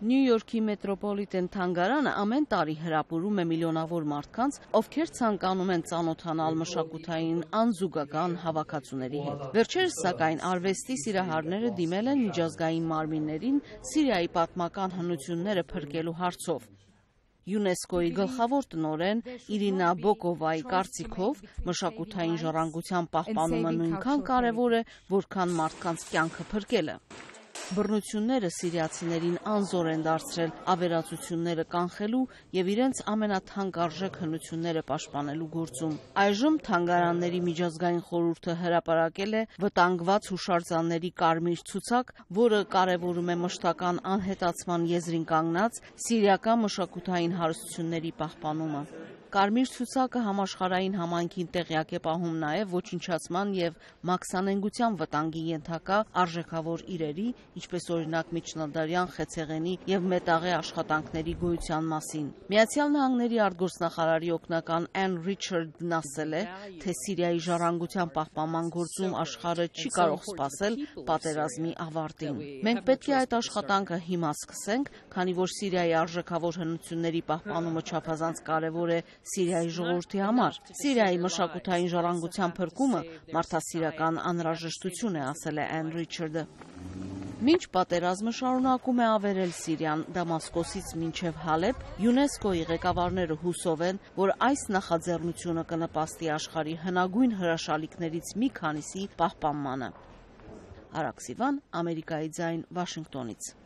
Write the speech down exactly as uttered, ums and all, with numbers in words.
Նյու Յորքի մետրոպոլիտեն թանգարանը ամեն տարի հրապուրում է միլիոնավոր մարդկանց, ովքեր ցանկանում են ծանոթանալ մշակութային անզուգական հավաքածուների հետ։ Վերջերս սակայն արվեստի սիրահարները դիմել են միջազգային մարմիններին Սիրիայի պատմական հնությունները փրկելու հարցով։ ՅՈՒՆԵՍԿՕ-ի գլխավոր տնօրեն Իրինա Բոկովայի կարծիքով մշակութային ժառանգության պահպանումը նույնքան կարևոր է, որքան մարդկանց կյանքը փրկելը։ Բռնությունները սիրիացիներին անզոր են դարձրել ավերածությունները կանխելու և իրենց ամենաթանկարժեք հնությունները պաշտպանելու գործում։ Այժմ թանգարանների միջազգային խորհուրդը հրապարակել է վտանգված հուշարձանների կարմիր ցուցակ, որը կարևորում է մշտական անհետացման եզրին կանգնած սիրիական մշակութային հարստությունների պահպանումը։ Կարմիր ցուցակը համաշխարհային համայնքին տեղյակ է պահում նաև ոչնչացման և մաքսանենգության վտանգի ենթակա արժեքավոր իրերի, ինչպես օրինակ միջնադարյան խեցեղենի և մետաղե աշխատանքների գոյության մասին։ Միացյալ Նահանգների արտգործնախարարի օգնական Անն Ռիչարդն ասել է, թե Սիրիայի ժառանգության պահպանման գործում աշխարհը չի կարող սպասել պատերազմի ավարտին։ Մենք պետք է այդ աշխատանքը հիմա սկսենք, քանի որ Սիրիայի արժեքավոր հնությունների պահպանումը չափազանց կարևոր է Սիրիայի ժողովրդի համար։ Սիրիայի մշակութային ժառանգության փրկումը մարդասիրական անհրաժեշտություն է, ասել է Անն Ռիչարդը։ Մինչ պատերազմը շարունակում է ավերել Սիրիան Դամասկոսից մինչև Հալեբ, ՅՈՒՆԵՍԿՕ-ի ղեկավարները հուսով են, որ այս նախաձեռնությունը կնպաստի աշխարհի հնագույն հրաշալիքներից մի քանիսի պահպանմանը։ Արաքսիվան, Ամերիկայի ձայն, Վաշինգտոնից։